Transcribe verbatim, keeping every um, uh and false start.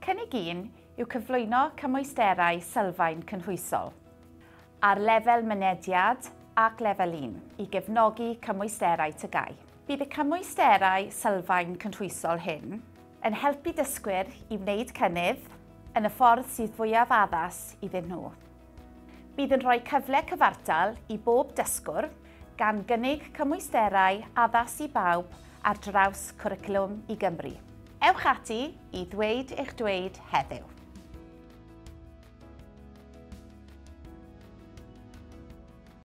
Cynnig un yw cyflwyno cymwysterau sylfaen cynhwysol ar lefel mynediad ac lefel un i gefnogi cymwysterau T G A U. Bydd y cymwysterau sylfaen cynhwysol hyn yn helpu dysgwyr i wneud cynnydd yn y ffordd sydd fwyaf addas iddyn nhw. Bydd yn rhoi cyfle cyfartal i bob dysgwr, gan gynnig cymwysterau addas i bawb ar draws Cwricwlwm i Gymru. Ewch ati i ddweud eich dweud heddiw.